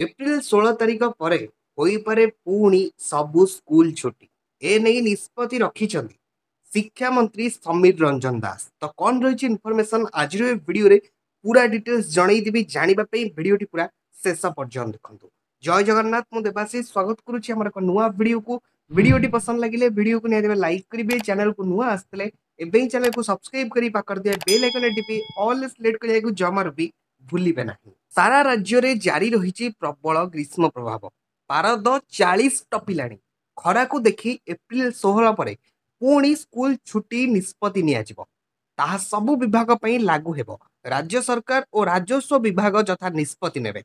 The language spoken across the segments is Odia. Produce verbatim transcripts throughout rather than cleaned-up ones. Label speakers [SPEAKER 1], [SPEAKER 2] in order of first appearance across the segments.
[SPEAKER 1] ଏପ୍ରିଲ ଷୋହଳ ତାରିଖ ପରେ ହୋଇପାରେ ପୁଣି ସବୁ ସ୍କୁଲ ଛୁଟି। ଏ ନେଇ ନିଷ୍ପତ୍ତି ରଖିଛନ୍ତି ଶିକ୍ଷାମନ୍ତ୍ରୀ ସମୀର ରଞ୍ଜନ ଦାସ। ତ କ'ଣ ରହିଛି ଇନଫର୍ମେସନ୍, ଆଜିର ଏ ଭିଡ଼ିଓରେ ପୁରା ଡିଟେଲ୍ସ ଜଣେଇଦେବି। ଜାଣିବା ପାଇଁ ଭିଡ଼ିଓଟି ପୁରା ଶେଷ ପର୍ଯ୍ୟନ୍ତ ଦେଖନ୍ତୁ। ଜୟ ଜଗନ୍ନାଥ, ମୁଁ ଦେବାଶିଷ ସ୍ୱାଗତ କରୁଛି ଆମର ଏକ ନୂଆ ଭିଡ଼ିଓକୁ। ଭିଡ଼ିଓଟି ପସନ୍ଦ ଲାଗିଲେ ଭିଡ଼ିଓକୁ ନିହାତି ଲାଇକ୍ କରିବେ। ଚ୍ୟାନେଲକୁ ନୂଆ ଆସିଥିଲେ ଏବେ ହିଁ ଚ୍ୟାନେଲକୁ ସବସ୍କ୍ରାଇବ କରି ପାଖରେ ଥିବା ବେଲ୍ ଆଇକନ୍ ଟିପି ଅଲ୍ ସିଲେକ୍ଟ କରିବାକୁ ଜମାରୁ ବି ଭୁଲିବେ ନାହିଁ। ସାରା ରାଜ୍ୟରେ ଜାରି ରହିଛି ପ୍ରବଳ ଗ୍ରୀଷ୍ମ ପ୍ରଭାବ। ପାରଦ ଚାଳିଶ ଟପିଲାଣି। ଖରାକୁ ଦେଖି ଏପ୍ରିଲ ଷୋହଳ ପରେ ପୁଣି ସ୍କୁଲ ଛୁଟି ନିଷ୍ପତ୍ତି ନିଆଯିବ। ତାହା ସବୁ ବିଭାଗ ପାଇଁ ଲାଗୁ ହେବ। ରାଜ୍ୟ ସରକାର ଓ ରାଜସ୍ୱ ବିଭାଗ ଯଥା ନିଷ୍ପତ୍ତି ନେବେ,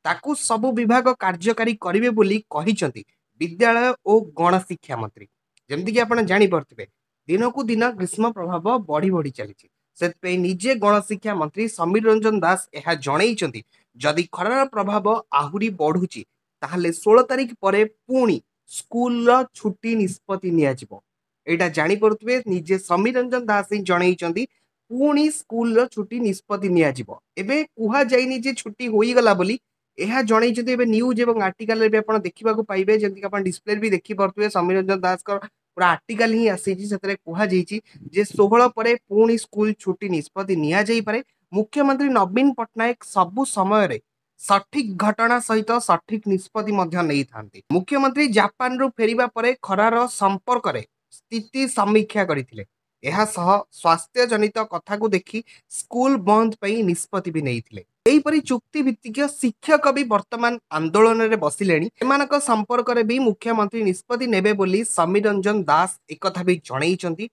[SPEAKER 1] ତାକୁ ସବୁ ବିଭାଗ କାର୍ଯ୍ୟକାରୀ କରିବେ ବୋଲି କହିଛନ୍ତି ବିଦ୍ୟାଳୟ ଓ ଗଣଶିକ୍ଷା ମନ୍ତ୍ରୀ। ଯେମିତିକି ଆପଣ ଜାଣିପାରୁଥିବେ, ଦିନକୁ ଦିନ ଗ୍ରୀଷ୍ମ ପ୍ରଭାବ ବଢି ବଢି ଚାଲିଛି। ସେଥିପାଇଁ ନିଜେ ଗଣଶିକ୍ଷା ମନ୍ତ୍ରୀ ସମୀର ରଞ୍ଜନ ଦାସ ଏହା ଜଣେଇଛନ୍ତି, ଯଦି ଖରାର ପ୍ରଭାବ ଆହୁରି ବଢୁଛି ତାହେଲେ ଷୋହଳ ତାରିଖ ପରେ ପୁଣି ସ୍କୁଲର ଛୁଟି ନିଷ୍ପତ୍ତି ନିଆଯିବ। ଏଇଟା ଜାଣିପାରୁଥିବେ, ନିଜେ ସମୀର ରଞ୍ଜନ ଦାସ ହିଁ ଜଣେଇଛନ୍ତି ପୁଣି ସ୍କୁଲର ଛୁଟି ନିଷ୍ପତ୍ତି ନିଆଯିବ। ଏବେ କୁହାଯାଇନି ଯେ ଛୁଟି ହୋଇଗଲା ବୋଲି, ଏହା ଜଣେଇଛନ୍ତି। ଏବେ ନ୍ୟୁଜ୍ ଏବଂ ଆର୍ଟିକାଲରେ ବି ଆପଣ ଦେଖିବାକୁ ପାଇବେ, ଯେମିତିକି ଆପଣ ଡିସପ୍ଲେରେ ବି ଦେଖିପାରୁଥିବେ, ସମୀର ରଞ୍ଜନ ଦାସଙ୍କ ପୁରା ଆର୍ଟିକାଲ ହିଁ ଆସିଛି। ସେଥିରେ କୁହାଯାଇଛି ଯେ ଷୋହଳ ପରେ ପୁଣି ସ୍କୁଲ ଛୁଟି ନିଷ୍ପତ୍ତି ନିଆଯାଇପାରେ। ମୁଖ୍ୟମନ୍ତ୍ରୀ ନବୀନ ପଟ୍ଟନାୟକ ସବୁ ସମୟରେ ସଠିକ ଘଟଣା ସହିତ ସଠିକ ନିଷ୍ପତ୍ତି ମଧ୍ୟ ନେଇଥାନ୍ତି। ମୁଖ୍ୟମନ୍ତ୍ରୀ ଜାପାନରୁ ଫେରିବା ପରେ ଖରାର ସମ୍ପର୍କରେ ସ୍ଥିତି ସମୀକ୍ଷା କରିଥିଲେ। ଏହା ସହ ସ୍ୱାସ୍ଥ୍ୟ ଜନିତ କଥାକୁ ଦେଖି ସ୍କୁଲ ବନ୍ଦ ପାଇଁ ନିଷ୍ପତ୍ତି ବି ନେଇଥିଲେ। ଏହିପରି ଚୁକ୍ତି ଭିତ୍ତିକ ଶିକ୍ଷକ ବି ବର୍ତ୍ତମାନ ଆନ୍ଦୋଳନରେ ବସିଲେଣି। ଏମାନଙ୍କ ସମ୍ପର୍କରେ ବି ମୁଖ୍ୟମନ୍ତ୍ରୀ ନିଷ୍ପତ୍ତି ନେବେ ବୋଲି ସମୀର ରଞ୍ଜନ ଦାସ ଏକଥା ବି ଜଣେଇଛନ୍ତି।